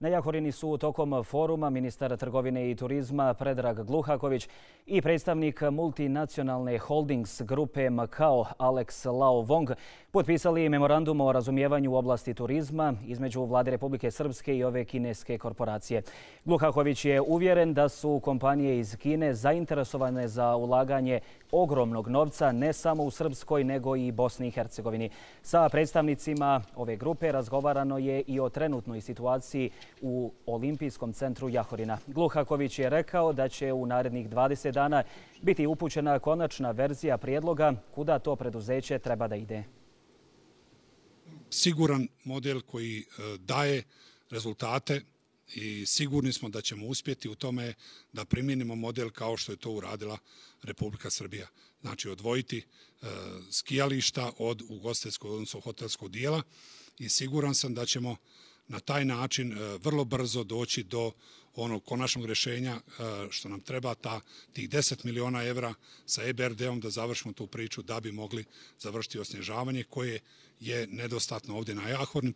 Na Jahorini su tokom foruma ministar trgovine i turizma Predrag Gluhaković i predstavnik multinacionalne holdings grupe Macao Alex Lao Wong potpisali memorandum o razumijevanju u oblasti turizma između Vlade Republike Srpske i ove kineske korporacije. Gluhaković je uvjeren da su kompanije iz Kine zainteresovane za ulaganje ogromnog novca ne samo u Srpskoj nego i Bosni i Hercegovini. Sa predstavnicima ove grupe razgovarano je i o trenutnoj situaciji u Olimpijskom centru Jahorina. Gluhaković je rekao da će u narednih 20 dana biti upućena konačna verzija prijedloga kuda to preduzeće treba da ide. Siguran model koji daje rezultate i sigurni smo da ćemo uspjeti u tome da primijenimo model kao što je to uradila Republika Srbija. Znači odvojiti skijališta od ugostiteljskog, odnosno hotelskog dijela, i siguran sam da ćemo na taj način vrlo brzo doći do onog konačnog rješenja što nam treba, tih 10 miliona evra sa EBRD-om da završimo tu priču da bi mogli završiti osnježavanje koje je nedostatno ovdje na Jahorini.